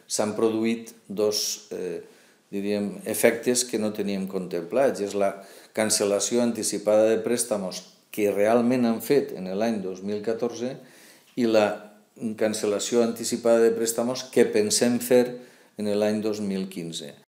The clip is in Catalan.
s'han produït dos efectes que no teníem contemplats. És la cancel·lació anticipada de préstamos que realment han fet en l'any 2014 i la cancel·lació anticipada de préstamos que pensem fer en l'any 2015.